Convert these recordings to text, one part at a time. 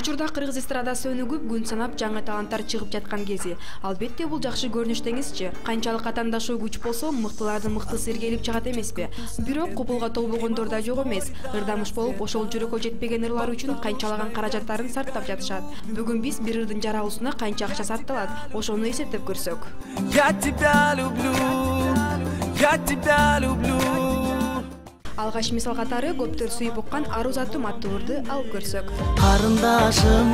Учурда кыргыз эстрадасы өнүгүп, күн санап жаңы таланттар чыгып жаткан кези. Албетте бул жакшы көрүнүш деңизчи. Канчалык атаандашуу күч болсо, мыктылардын мыктысы иргелип чыгат эмеспи? Бирок купулга толбогондор да жок эмес. Ырдамыш болуп, ошол жүрөккө жетпеген ырлар үчүн канчалаган каражаттарын сарптап жатышат. Бүгүн биз бир ырдын жаралуусуна канча акча сарпталат, ошону эсептеп көрсөк. Я тебя люблю, я тебя люблю. Алгач мисал катары көптөр сүйүп уккан Ару затым аттуу ырды алып көрсөк. Карындашым,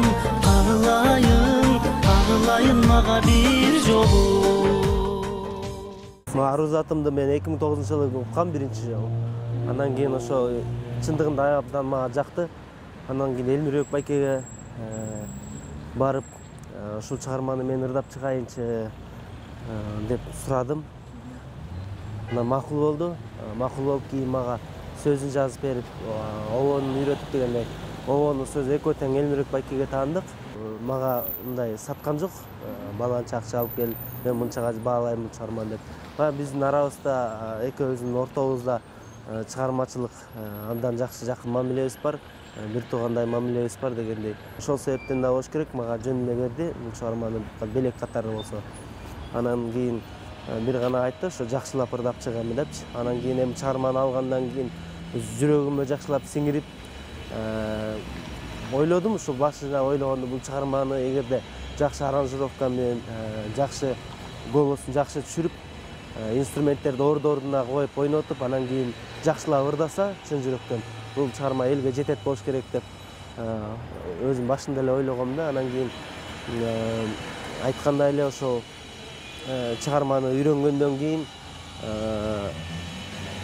агылайын мага бир жолу. Ару затымды мен 2009-жылы уккам биринчи жолу. Андан кийин ошо чындыгында абдан мага жакты. Андан кийин Элмирбек байкеге барып, ушул чыгарманы мен ырдап чыгайынчы деп сурадым. Анан макул болду. Макул болуп кийин мага сөзүн жазып берип, обонун үйрөтүп дегендей. Обонун сөзү экөө тең Элмирбек байкеге таандык. Мага мындай саткан жок. Баланча акча алып кел, мен мынчага баалайм бул чыгарманы деп. Биздин арабызда, экөөбүздүн ортобузда чыгармачылык андан жакшы жакын мамилебиз бар, бир туугандай мамилебиз бар дегендей. Ошол себептен да болуш керек, мага жөн эле берди бул чыгарманы белек катары болсо. Анан кийин бир гана айтты, ошо жакшылап ырдап чыгам депчи. Анан кийин эми чыгарманы алгандан кийин жүрөгүмө жакшылап сиңирип ойлодум, ушул башында ойлогондо бул чыгарманы эгерде жакшы аранжировка менен, жакшы голосун жакшы түшүрүп, инструменттерди ордуна коюп ойнотуп, анан кийин жакшылап ырдаса, чын жүрөктөн бул чыгарма элге жетет болуш керек деп өзүм башында эле ойлогом да. Анан кийин айткандай эле ошол чыгарманы үйрөнгөндөн кийин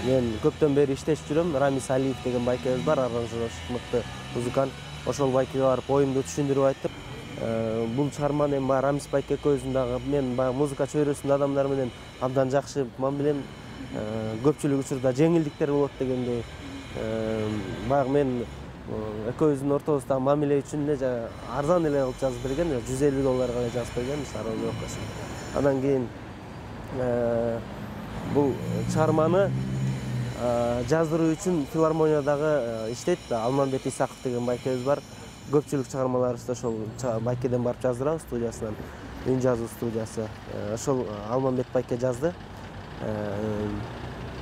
мен көптөн бери иштешип жүрөм. Рамис Алиев деген байкебиз бар, аранжировщик мыкты музыкант. Ошол байкеге барып оюмду түшүндүрүп айтып, бул чыгарманы эми Рамис байке экөөбүздүн дагы мен баягы музыка чөйрөсүндө адамдар менен абдан жакшы мамилем, көпчүлүк учурда жеңилдиктер болот дегендей. Баягы мен экөөбүздүн ортобуздагы мамиле үчүн эле арзан эле кылып жазып берген, $150 эле жазып берген аранжировкасын. Андан кийин бул чыгарманы жаздыруу үчүн филармониядагы иштейт Алмамбет Исаков деген байкебиз бар. Көпчүлүк чыгармаларыбызды ошол байкеден барып жаздырабыз, студиясынан, үн жазуу студиясы. Ошол Алмамбет байке жазды.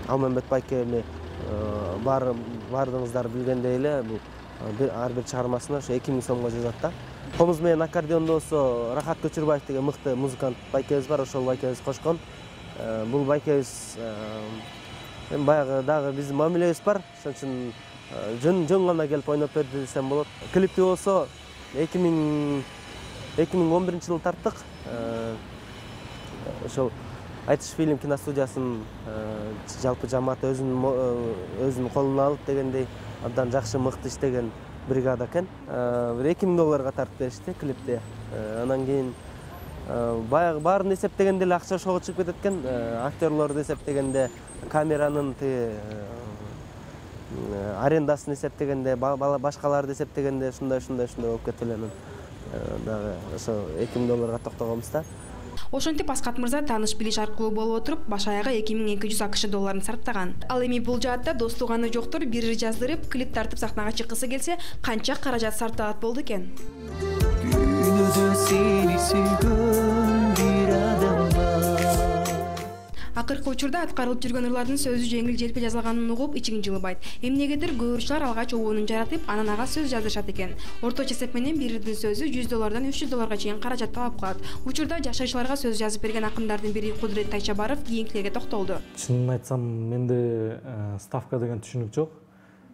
Алмамбет байке эми бардыңыздар билгендей эле, бул ар бир чыгармасына ошо 2000 сомго жазат да. Комуз менен аккордеондо болсо Рахат Көчүрбаев деген мыкты музыкант байкебиз бар, ошол байкебиз кошкон. Бул байкебиз эми баягы дагы биздин мамилебиз бар, ошон үчүн жөн гана келип ойноп берди десем болот. Клипти болсо 2011-жылы тарттык. Ошол Айтыш фильм киностудиясынын жалпы жамааты өзүнүн колуна алып дегендей абдан жакшы мыкты иштеген бригада экен. $2000 тартып беришти клипти. Анан кийин баягы баарын эсептегенде эле акча ошого чыгып кетет экен. Актерлорду эсептегенде, камеранын арендасын эсептегенде, башкаларды эсептегенде ушундай болуп кетти эле. Дагы ошо $2000 токтогонбуз да. Ошентип Аскат мырза тааныш билиш аркылуу болуп отуруп, баш аягы $2200 акш сарптаган. Ал эми бул жаатта достуганы жоктор бир ыр жаздырып, клип тартып сахнага чыккысы келсе, канча каражат сарпталат болду экен? Күнүдө сени сүйгөн бир адам бар. Акыркы учурда аткарылып жүргөн ырлардын сөзү жеңил-желпи жазылганын угуп, ичиң жылыбайт. Эмнегедир көөрүчүлөр алгач обонун жаратып, анан ага сөз жаздырышат экен. Орточо эсеп менен бир ырдын сөзү $100 $300 чейин каражат талап кылат. Учурда жашаачыларга сөз жазып берген акындардын бири Кудурет Тайчабаров кийинкилерге токтолду. Чынын айтсам, менде ставка деген түшүнүк жок.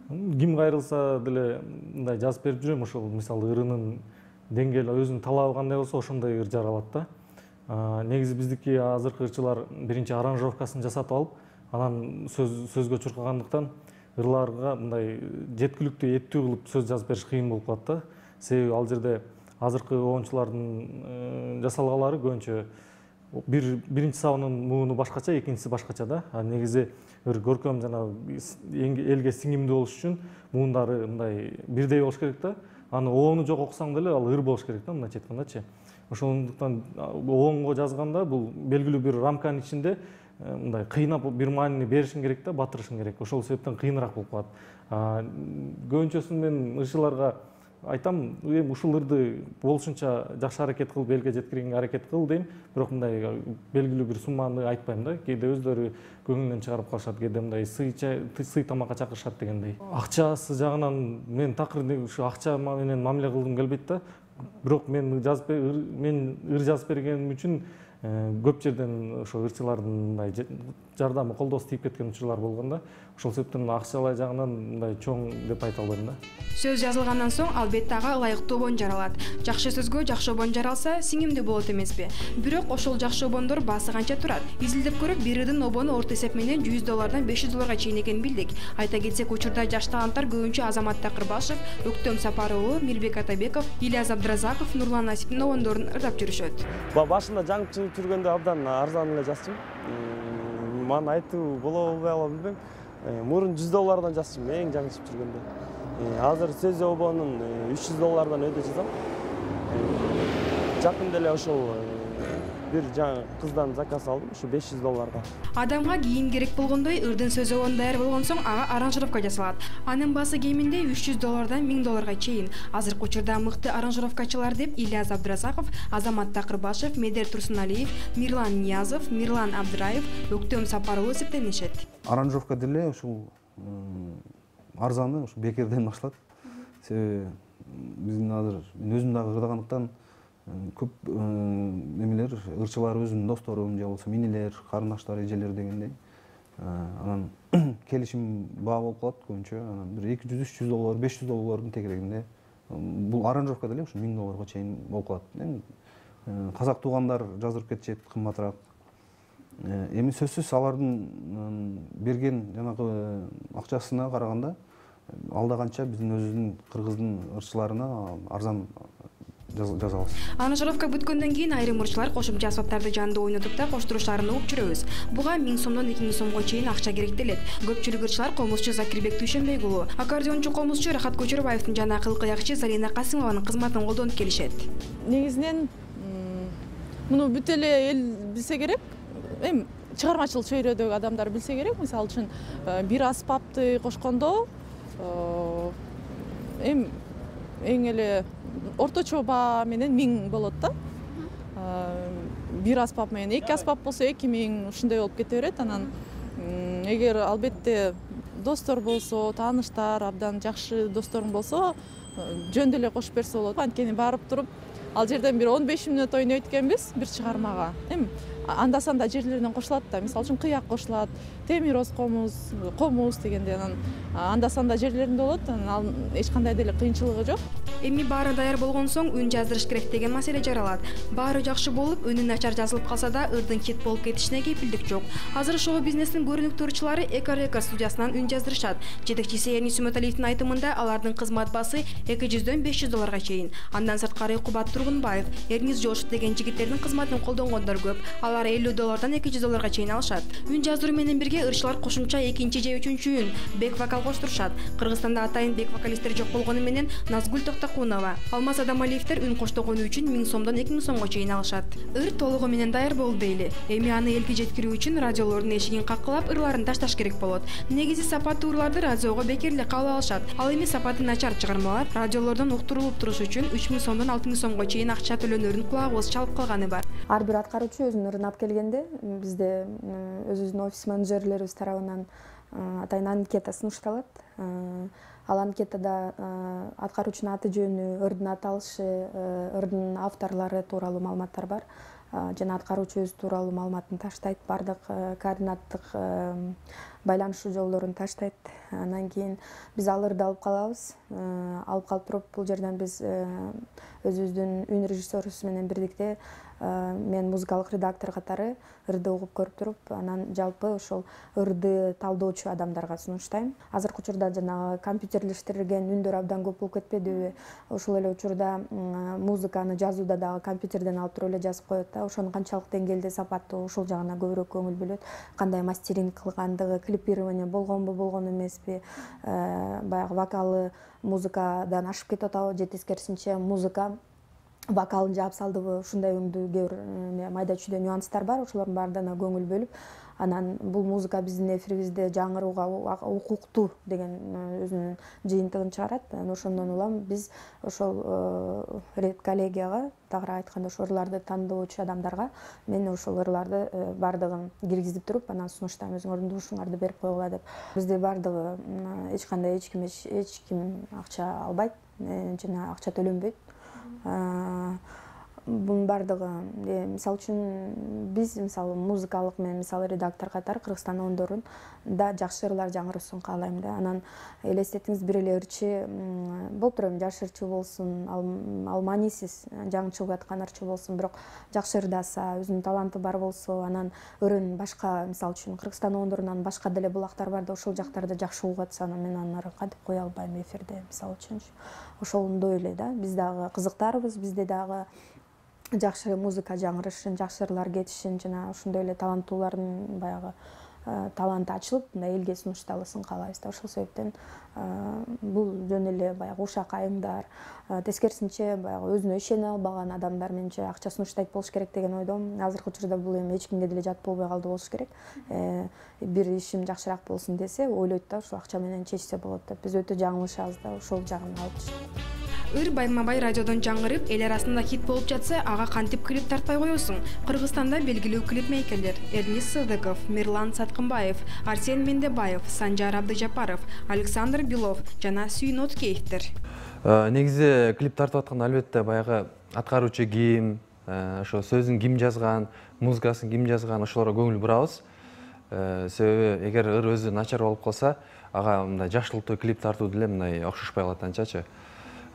Ким кайрылса деле мындай жазып берип жүрөм, ошол мисалы ырынын деңгээли өзүнүн талабы кандай болсо ошондой ыр жаралат да. Негизи биздики азыркы ырчылар биринчи аранжировкасын жасатып алып, анан сөзгө чуркагандыктан ырларга мындай жеткиликтүү, эттүү кылып сөз жазып бериш кыйын болуп калат да. Себеби ал жерде азыркы обончулардын жасалгалары көбүнчө биринчи сабынын мууну башкача, экинчиси башкача да. Негизи бир көркөм жана элге сиңимдүү болуш үчүн муундары мындай бирдей болуш керек да. Аны обону жок окусаң деле ал ыр болуш керек да, мындайча айткандачы. Ошондуктан обонго жазганда бул белгилүү бир рамканын ичинде мындай кыйнап бир маанини беришиң керек да, батырышың керек. Ошол себептен кыйыныраак болуп калат. Көбүнчөсүн мен ырчыларга айтам, эми ушул ырды болушунча жакшы аракет кылып элге жеткиргенге аракет кыл дейм. Бирок мындай белгилүү бир сумманы айтпайм да. Кээде өздөрү көңүлүнөн чыгарып калышат, кээде мындай сый тамакка чакырышат дегендей. Акчасы жагынан мен такыр ушу акча менен мамиле кылгым келбейт да. Бирок мен ыр жазып бергеним үчүн көп жерден ошо ырчылардын мындай жардамы, колдоосу тийип кеткен учурлар болгон да. Ошол себептен акчалай жагынан мындай чоң деп айта албайм да. Сөз жазылгандан соң албетте ага ылайыктуу обон жаралат. Жакшы сөзгө жакшы обон жаралса, сиңимдүү болот эмеспи? Бирок ошол жакшы обондор баасы канча турат? Изилдеп көрүп, бир ырдын обону орто эсеп менен $100 $500 чейин экенин билдик. Айта кетсек, учурда жаш таланттар көбүнчө Азамат Такырбашев, Өктөм Сапар уулу, Мирбек Атабеков, Ильяз Абдыразаков, Нурлан Насиптин обондорун ырдап жүрүшөт. Башында жаңы чыгып жүргөндө абдан арзан эле жазчым. Мана айтуу болобу албайм билбейм. Мурун $100 жазчым, эң жаңы чыгып жүргөндө. Азыр сөз обонун $300 өйдө жазам. Жакында эле ошол бир жаңы кыздан заказ алдым, ушу $500. Адамга кийим керек болгондой ырдын сөз обону даяр болгон соң ага аранжировка жасалат. Анын баасы кеминде $300 $1000 чейин. Азыркы учурда мыкты аранжировкачылар деп Ильяз Абдыразаков, Азамат Такырбашев, Медер Турсуналиев, Мирлан Ниязов, Мирлан Абдыраев, Өктөм Сапар уулу эсептенишет. Аранжировка деле ушул арзаны ушу бекерден башталат. Себеби биздин азыр өзүм дагы ырдагандыктан көп немелер ырчылар өзүмдүн досторум же болбосо минилер, карындаштар, эжелер дегендей. Анан келишим баа болуп калат көбүнчө. Анан бир $200-300 $500 тегерегинде. Бул аранжировка деле ушу $1000 чейин болуп калат. Эми казак туугандар жаздырып кетишет кымбатыраак. Эми сөзсүз алардын берген жанагы акчасына караганда алда канча биздин өзүбүздүн кыргыздын ырчыларына арзан жазабыз. Аранжировка бүткөндөн кийин айрым ырчылар кошумча аспаптарды жанында ойнотуп да коштуруштарын угуп жүрөбүз. Буга 1000 сомдон 2000 сомго чейин акча керектелет. Көпчүлүк ырчылар комузчу Закирбек Дүйшөнбек уулу, аккордеончу комузчу Рахат Көчөрбаевдин жана кыл-кыякчы Зарина Касымованын кызматын колдонуп келишет. Негизинен муну бүт эле эл билсе керек. Эми чыгармачыл чөйрөдөгү адамдар билсе керек. Мисалы үчүн бир аспапты кошкондо эми эң эле орточо баа менен 1000 болот да. Бир аспап менен 2 аспап болсо 2000 ушундай болуп кете берет. Анан эгер албетте достор болсо, тааныштар, абдан жакшы досторуң болсо, жөн деле кошуп берсе болот. Анткени барып туруп ал жерден бир 15 мүнөт ойнойт экенбиз бир чыгармага. Эми анда-санда жерлеринен кошулат да. Мисалы үчүн кыяк кошулат, темироз комуз дегенде анан анда-санда жерлеринде болот. Анан эч кандай деле кыйынчылыгы жок. Эми баары даяр болгон соң үн жаздырыш керек деген маселе жаралат. Баары жакшы болуп, үнү начар жазылып калса да, ырдын чет болуп кетишине кепилдик жок. Азыр шоу бизнестин көрүнүктүү ырчылары Эко Рекорд студиясынан үн жаздырышат. Жетекчиси Эрнис Сүмөталиевдин айтымында алардын кызмат баасы $200-дөн $500 чейин. Андан сырткары Кубат Тургунбаев, Эрнис Жошев деген жигиттердин кызматын колдонгондор көп. Алар $50-дан $200 чейин алышат. Үн жаздыруу менен бирге ырчылар кошумча экинчи же үчүнчү үн, бек вокал коштурушат. Кыргызстанда атайын бек вокалисттер жок болгону менен Назгүл Токтокунова, Алмаз Адамалиевдер үн коштогону үчүн 1000 сомдон 2000 сомго чейин алышат. Ыр толугу менен даяр болду дейли. Эми аны элге жеткирүү үчүн радиолордун эшигин каккылап ырларын ташташ керек болот. Негизи сапаттуу ырларды радиого бекер эле кабыл алышат. Ал эми сапаты начар чыгармалар радиолордон уктурулуп туруш үчүн 3000 сомдон 6000 сомго чейин акча төлөнөрүн кулагыбыз чалып калганы бар. Ар бир аткаруучу өзүнүн ырын алып келгенде бизде өзүбүздүн офис менеджерлерибиз тарабынан атайын анкета сунушталат. Ал анкетада аткаруучунун аты жөнү, ырдын аталышы, ырдын авторлору тууралуу маалыматтар бар. Жана аткаруучу өзү тууралуу маалыматын таштайт, бардык координаттык байланышуу жолдорун таштайт. Андан кийин биз ал ырды алып калабыз. Алып калып туруп бул жерден биз өзүбүздүн үн режиссерубуз менен бирдикте мен музыкалык редактор катары ырды угуп көрүп туруп, анан жалпы ошол ырды талдоочу адамдарга сунуштайм. Азыркы учурда жанагы компьютерлештирилген үндөр абдан көп болуп кетпедиби? Ошол эле учурда музыканы жазууда дагы компьютерден алып туруп эле жазып коет да. Ошонун канчалык деңгээлде сапаттуу, ошол жагына көбүрөөк көңүл бөлөт. Кандай мастеринг кылгандыгы, клипирование болгонбу, болгон эмеспи? Баягы вокалы музыкадан ашып кетип атабы же тескерисинче музыка вокалын жаап салдыбы, ушундай өңдүү майда чүйдө нюанстар бар. Ошолордун баарына көңүл бөлүп, Анан бул музыка биздин эфирибизде жаңырууга укуктуу деген өзүнүн жыйынтыгын чыгарат. Ошондон улам биз ошол редколлегияга, тагыраак айтканда ошол ырларды тандоочу адамдарга мен ошол ырларды бардыгын киргизип туруп, анан сунуштайм, өзүңөрдүн дуушуңарды берип койгула деп. Бизде бардыгы эч кандай эч ким акча албайт жана акча төлөнбөйт. Бунун бардыгы мисалы үчүн биз мисалы музыкалык мен мисалы редактор катары Кыргызстан ондорун да жакшы ырлар жаңырысын каалайм да. Анан элестетиңиз, бир эле ырчы болуп турат, жаш ырчы болсун, ал маанисиз жаңы чыгып аткан ырчы болсун, бирок жакшы ырдаса, өзүнүн таланты бар болсо, анан ырын башка, мисалы үчүн Кыргызстан ондорунан башка деле булактар бар да, ошол жактарда жакшы угуп атса, анан мен анын ырын кантип кое албайм эфирде, мисалы үчүнчү. Ошондой эле да, биз дагы кызыктарбыз, бизде дагы жакшы музыка жаңырышын, жакшы ырлар кетишин жана ошондой эле таланттуулардын баягы таланты ачылып, мындай элге сунушталысын каалайбыз да. Ошол себептен бул жөн эле баягы ушак айымдар, тескерисинче баягы өзүнө ишене албаган адамдар менче акча сунуштайт болуш керек деген ойдомун. Азыркы учурда бул эми эч кимге деле жат болбой калды болуш керек. Бир ишим жакшыраак болсун десе, ойлойт да, ушул акча менен чечсе болот деп. Биз өтө жаңылышабыз да, ошол жагын алып чыгып. Ыр байма-бай радиодон жаңырып, эл арасында хит болуп жатса, ага кантип клип тартпай коесуң? Кыргызстанда белгилүү клипмейкерлер Эрнис Сыдыков, Мирлан Саткынбаев, Арсен Мендебаев, Санжар Абдыжапаров, Александр Белов жана Сүйүн Откеевдер. Негизи клип тартып атканда албетте баягы аткаруучу ким, ошо сөзүн ким жазган, музыкасын ким жазган, ошолорго көңүл бурабыз. Себеби эгер ыр өзү начар болуп калса, ага мындай жакшылыктуу клип тартуу деле мындай окшошпой калат анчачы.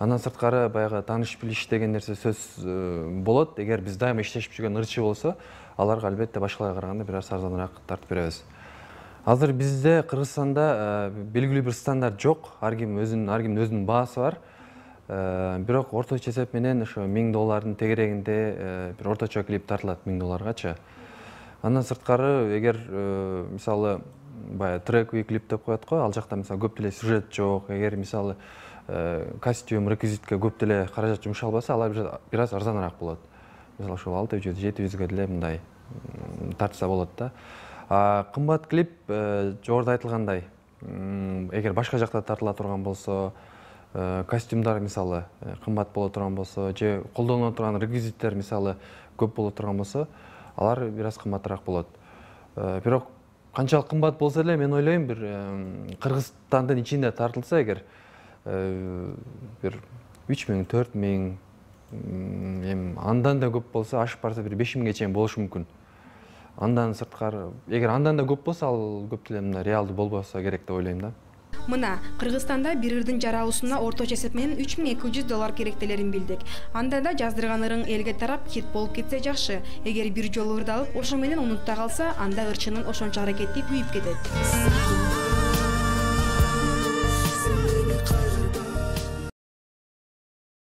Андан сырткары баягы тааныш билиш деген нерсе сөз болот. Эгер биз дайыма иштешип жүргөн ырчы болсо, аларга албетте башкаларга караганда бир аз арзаныраак тартып беребиз. Азыр бизде Кыргызстанда белгилүү бир стандарт жок. Ар кимдин өзүнүн баасы бар. Бирок орточо эсеп менен ошо $1000 тегерегинде бир орточо клип тартылат $1000-гачы. Андан сырткары эгер мисалы баягы трековый клип деп коет го, ал жакта мисалы көп деле сюжет жок, эгер мисалы костюм, реквизитке көп деле каражат жумшалбаса, алар бир аз арзаныраак болот. Мисалы ошол 600-700ге деле мындай тартса болот да. Кымбат клип жогоруда айтылгандай, эгер башка жакта тартыла турган болсо, костюмдар мисалы кымбат боло турган болсо, же колдонула турган реквизиттер мисалы көп боло турган болсо, алар бир аз кымбатыраак болот. Бирок канчалык кымбат болсо деле, мен ойлойм, бир Кыргызстандын ичинде тартылса эгер бир 3000, 4000, эми андан да көп болсо, ашып барса бир 5000ге чейин болушу мүмкүн. Андан сырткары, эгер андан да көп болсо, ал көп деле мына реалдуу болбосо керек деп ойлойм да. Мына Кыргызстанда бир ырдын жаралуусуна орточо эсеп менен $3200 керектелерин билдик. Анда да жаздырган ырың элге тарап хит болуп кетсе жакшы. Эгер бир жолу ырдалып, ошо менен унутта калса, анда ырчынын ошончо аракети күйүп кетет.